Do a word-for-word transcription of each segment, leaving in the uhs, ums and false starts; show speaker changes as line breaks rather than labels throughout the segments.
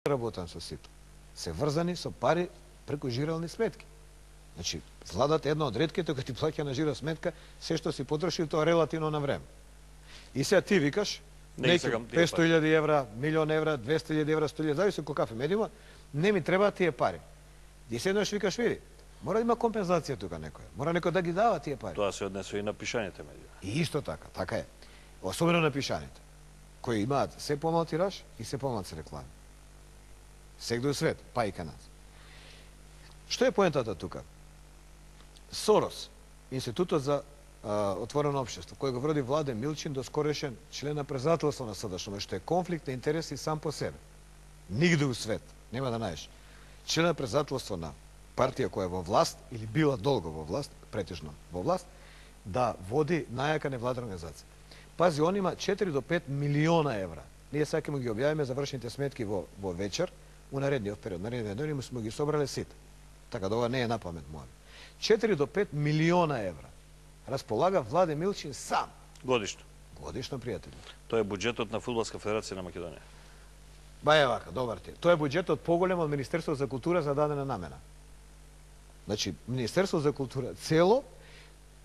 работам со сите. Се врзани со пари преку жирални сметки. Значи, владата е една од ретките која ти плаќа на жира сметка, се што си потроши тоа релативно на време. И сега ти викаш, петстотини илјади евра, милион евра, двесте илјади евра, сто илјади, зависи кој кафе медиума, не ми треба тие пари. И седнаш викаш, види, мора да има компензација тука некоја. Мора некој да ги дава тие пари.
Тоа се однесува и на пишаните медиуми.
И исто така, така е. Особено на пишаните, кои имаат се помал тираж и се помалци реклами. Сегде у свет, па и кај нас. Што е поентата тука? Сорос, Институтот за а, отворено општество, кој го води Владен Милчин, доскорешен член на председателство на СДШ, што е конфликт на интереси сам по себе. Нигде у свет, нема да најдеш. Член на председателство на партија која е во власт, или била долго во власт, претежно во власт, да води најака невладена организација. Пази, он има четири до пет милиона евра. Ние сега ќе му ги објавиме завршените сметки во, во вечер, у наредниот период. Наредниот ден сме ги собрале сите. Така да ова не е на памет моја. четири до пет милиона евра располага Владен Милчин сам.
Годишно.
Годишно, пријатели.
Тоа е буџетот на Фудбалска федерација на Македонија.
Ба е вака, добар ти. Тоа е буџетот поголем од Министерството за култура за дадена намена. Значи, Министерството за култура цело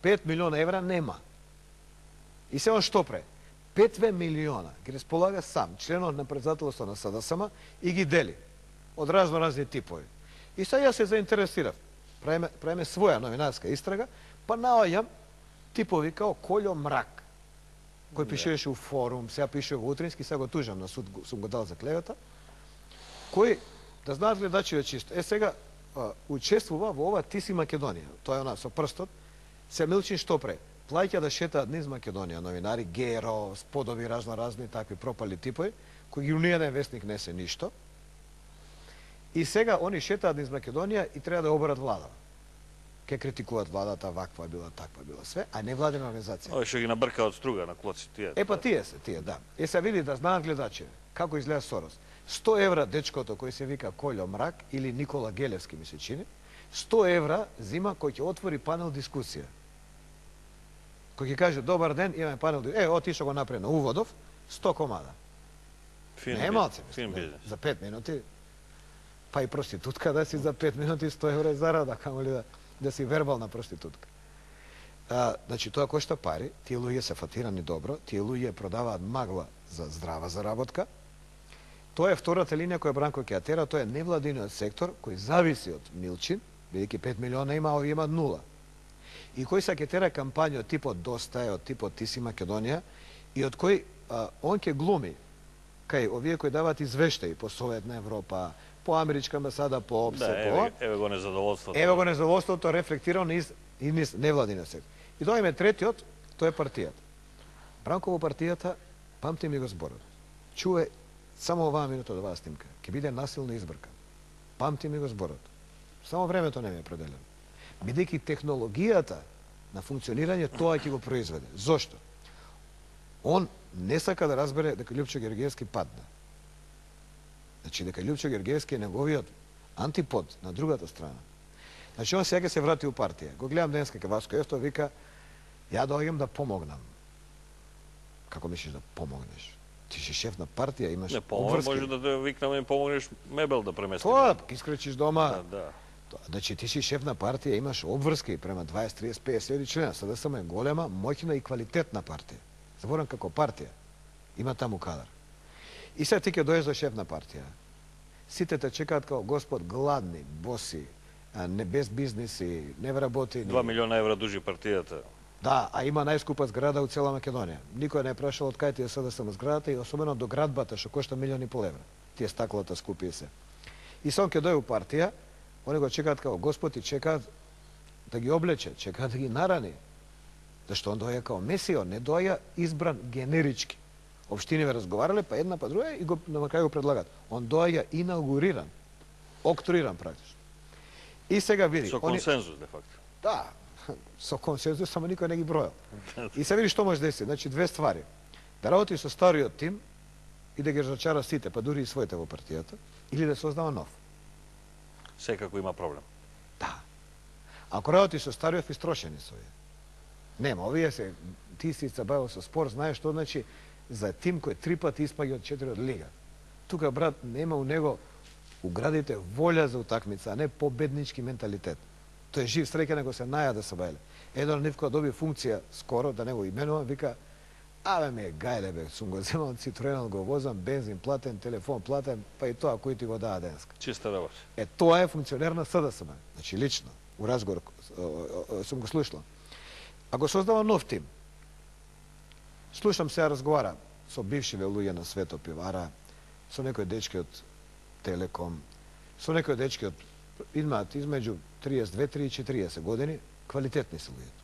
пет милиона евра нема. И се он што пре? пет милиона ги располага сам, членот на председателство на СДСМ, и ги дели од разно разни типови. И сега јас се заинтересирав. Правиме, правиме своја новинарска истрага, па наоѓам типови као Колјо Мрак, кој пишеше у Форум, сега пише во Утрински, сега го тужам на суд, сум го дал за клевета, кој, да знаат гледачите чисто, е сега а, учествува во ова Ти си Македонија, тоа е она со прстот, се Милчин што пре? Плаќа да шетаат низ Македонија новинари, Геро, сподоби разно разни такви пропали типови, кои ги у ниједен вестник не се ништо. И сега они шетаат низ Македонија и треба да оборат владата. Ке критикуваат владата, ваква била, таква била, све, а не владена организација.
Ова што ги набрка од струга на клоци тие.
Е па тие се, тие, да. Е се види да знаат гледачи како изгледа Сорос. сто евра дечкото кој се вика Колјо Мрак или Никола Гелевски ми се чини, сто евра зима кој ќе отвори панел дискусија. Кој ќе каже добар ден, имаме панел, е, отишо го напред на Уводов, сто комада.
Фин,
не е малце,
фин бизнес.
За пет минути, па и проститутка да си за пет минути сто евра зарада, камо ли да, да си вербална проститутка. А, значи, тоа кошта пари, тие луѓе се фатирани добро, тие луѓе продаваат магла за здрава заработка. Тоа е втората линија која Бранко ќе ја тера, тоа е невладиниот сектор кој зависи од Милчин, бидејќи пет милиона има, овие имаат нула. И кој се ќе тера кампања од типот Доста е, од типот Ти си Македонија, и од кој а, он ќе глуми кај овие кои даваат извештаи по Советна Европа, по Америчка амбасада, по ОПСЕ,
да,
по
еве, еве го незадоволството.
Еве го незадоволството рефлектирано низ, и низ невладиниот сектор. И доаѓаме третиот, тоа е партијата. Бранко во партијата, памти ми го зборот. Чуе само оваа минута од оваа снимка. Ќе биде насилно избркан. Памти ми го зборот. Само времето не ми е определено. Бидејќи технологијата на функционирање тоа ќе го произведе. Зошто? Он не сака да разбере дека Љупчо Георгиевски падна. Значи дека Љупчо Георгиевски е неговиот антипод на другата страна. Значи он сега ќе се врати у партија. Го гледам денеска кај Васко Евто, вика ја доаѓам да помогнам. Како мислиш да помогнеш? Ти си шеф на партија, имаш
не, обврски. Може да те викнам и помогнеш мебел да преместиш.
Тоа, искречиш дома.
Да, да.
Значи ти си шеф на партија, имаш обврски према дваесет, тридесет, песет члена. СДСМ е голема, моќна и квалитетна партија. Заборам како партија. Има таму кадар. И сега ти ќе дојдеш за шеф на партија. Сите те чекаат како господ гладни, боси, не без бизнеси, не вработени.
Два милиона евра дужи партијата.
Да, а има најскупа зграда у цела Македонија. Никој не е прашал од кај ти е СДСМ зградата и особено до градбата што кошта милиони и пол евра. Тие стаклата скупи се. И сон ќе дојде у партија, они го чекаат како господ и чекаат да ги облече, чекаат да ги нарани. Зашто он доаѓа како месио, не доаѓа избран генерички. Општините разговарале, па една па друга и го на крај го предлагат. Он доаѓа инаугуриран, октруиран практично. И сега види,
со консензус де факто.
Да, со консензус, само никој не ги бројал. И се види што може деси, значи две ствари. Да работи со стариот тим и да ги разочара сите, па дури и своите во партијата, или да создава нов.
Секако има проблем.
Да. Ако работи со стариот, истрошени со овие. Нема, овие се, ти си се бавил со спор, знаеш што значи за тим кој три пати испаѓа од четири од лига. Тука, брат, нема у него уградите волја за утакмица, а не победнички менталитет. Тој е жив среќен ако се наја да се бајле. Еден од нив кој доби функција скоро, да не го именувам, вика: "Абе ме гајле бе, сум го земал Citroen, го возам, бензин платен, телефон платен, па и тоа кој ти го даа денеска."
Чиста работа.
Е, тоа е функционер на СДСМ. Значи, лично, у разговор сум го слушал. Ако создава нов тим, слушам се разговара со бившиве луѓе на Свето пивара, со некои дечки од Телеком, со некои дечки од имаат измеѓу триесет и две и четириесет години, квалитетни се луѓето.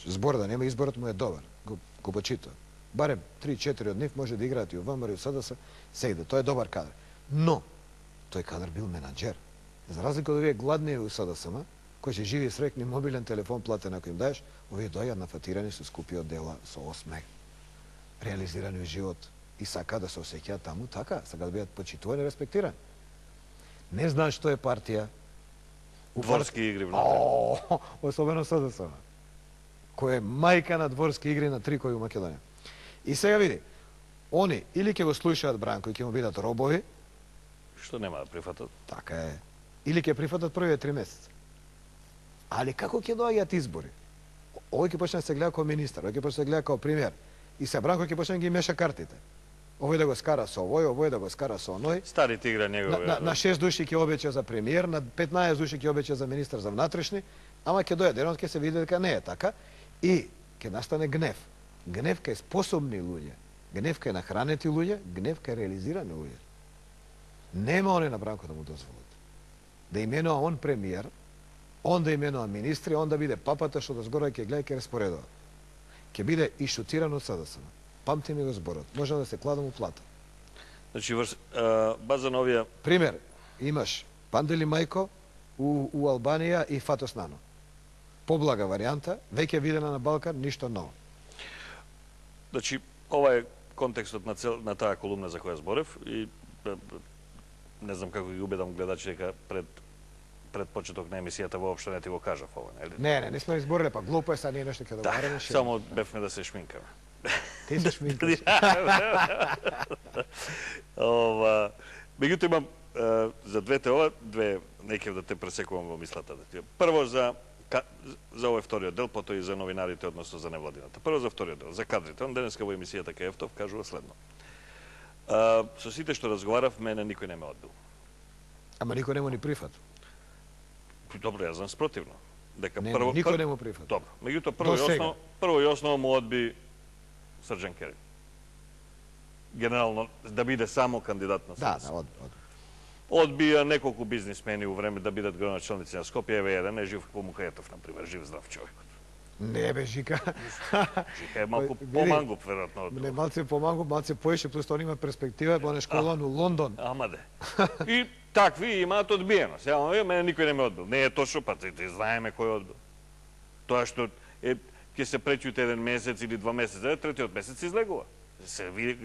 Збор да нема, изборот му е добар, го, го почитува. Барем три-четири од нив може да играат и у ВМРО и у СДС, се иде, тој е добар кадар. Но, тој кадар бил менаџер. За разлика од овие гладни у СДСМ, кои ќе живи срекни мобилен телефон платен ако им даеш, овие дојат нафатирани со скупи одела, со осмех, реализирани во живот и сака да се осеќаат таму така, сака да бидат почитувани и респектирани. Не знаат што е партија.
Дворски игри внатре.
О, особено СДСМ, кој е мајка на дворски игри на трикови у Македонија. И сега види, они или ќе го слушаат Бранко и ќе му бидат робови,
Што нема да прифатат?
така е, или ќе прифатат првите три месеца. Али како ќе доаѓаат избори? Овој ќе почне да се гледа како министар, овој ќе почне да се гледа како премиер. И се Бранко ќе почне да ги меша картите. Овој да го скара со овој, овој да го скара со оној.
Старите игра
На,
негови.
на, на шест души ќе обеќа за премиер, на петнаесет души ќе обеќа за министар за внатрешни, ама ќе дојде денот ќе се види дека не е така и ќе настане гнев. Гнев кај способни луѓе, гнев кај нахранети луѓе, гнев кај реализирани луѓе. Нема оне на Бранко да му дозволат. Да именува он премиер, он да именува министри, он да биде папата што дозгора ќе гледа и ќе распоредува. Ќе биде и шутиран од СДСМ. Памти ми го зборот. Може да се кладам у плата.
Значи, врз, а, база на овие...
Пример, имаш Пандели Мајко у, у Албанија и Фатос Нано. Поблага варијанта, веќе видена на Балкан, ништо ново.
Значи, ова е контекстот на, цел, на таа колумна за која зборев и е, не знам како ги убедам гледачи дека пред пред почеток на емисијата воопшто не ти го кажав ова, нели?
Не, не, не сме избориле, па глупо е, са ние нешто ќе договараме.
Да, само бевме да се шминкаме.
Ти се шминкаш.
Ова, меѓутоа имам е, за двете ова, две, неќе да те пресекувам во мислата. Прво за ка, за овој вториот дел, потоа и за новинарите, односно за невладината. Прво за вториот дел, за кадрите. Он денеска во емисијата кај Ефтов кажува следно. А, со сите што разговарав, мене никој не ме одбил.
Ама никој не му ни прифат.
Добро, јас знам спротивно. Дека
Не,
прво
никој
пр...
не му прифат.
Добро. Меѓутоа прво и
До сега.
основно, прво и основно му одби Срđan Керин. Генерално да биде само кандидат на
Да,
СДС.
да, од, од.
Одбија неколку бизнисмени у време да бидат градоначалници на Скопје, еве еден е жив по Мукаетов, на пример, жив здрав човек.
Не бе, Жика.
Жика е малку
Види,
помангуп, веројатно.
Не, малце помангу, малце поише, плюс тоа има перспектива, бо не школан у Лондон.
Ама де. И такви имаат одбиено. Сега, ама, мене никој не ме одбил. Не е точно, па ти, ти знаеме кој е одбил. Тоа што е, ќе се пречуте еден месец или два месеца, третиот месец излегува. Се види,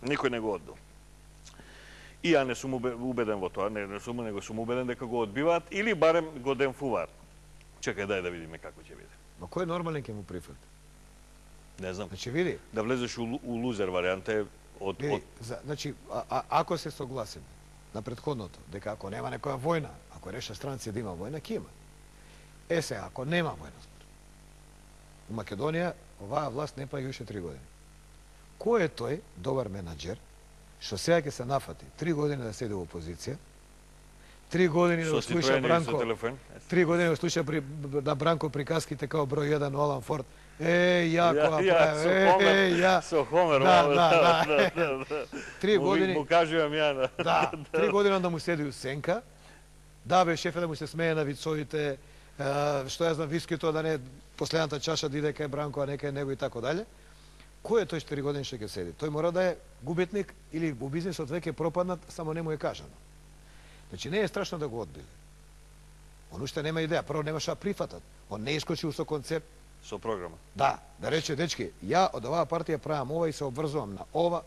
никој не го одбил. И ја не сум убеден во тоа, не, не сум, него сум убеден дека го одбиваат или барем го денфуваат. Чекај, дај да видиме како ќе биде.
Ма кој нормален ќе му прифат?
Не знам.
Значи, види,
Да влезеш у, у лузер варијанта е од,
види,
од
за, значи, а, а, ако се согласиме на предходното, дека ако нема некоја војна, ако реша странци да има војна, ќе има. Е се, ако нема војна, у Македонија оваа власт не паѓа уште три години. Кој е тој добар менаџер што сега ќе се нафати три години да седи во опозиција, три години да
со
го слуша
Citroen и со
Бранко,
телефон?
три години да го слуша при, на Бранко приказките као број еден Олан Форд. Е, ја
Ја,
која
ја,
прави,
со
е,
Хомер,
е, ја.
со Хомер,
Да,
ова,
да, да.
да, да.
Три
Му-
години,
Му кажувам ја на...
да, три години да му седи у сенка, да бе шефе да му се смее на вицовите, е, што ја знам, вискито да не последната чаша да иде кај Бранко, а не кај него и тако дале. Кој е тој четири години што ќе седи? Тој мора да е губитник или у бизнисот веќе пропаднат, само не му е кажано. Значи не е страшно да го одбили. Он уште нема идеја, прво нема што прифатат. Он не искочил со концепт.
Со програма.
Да, да рече, дечки, ја од оваа партија правам ова и се обврзувам на ова,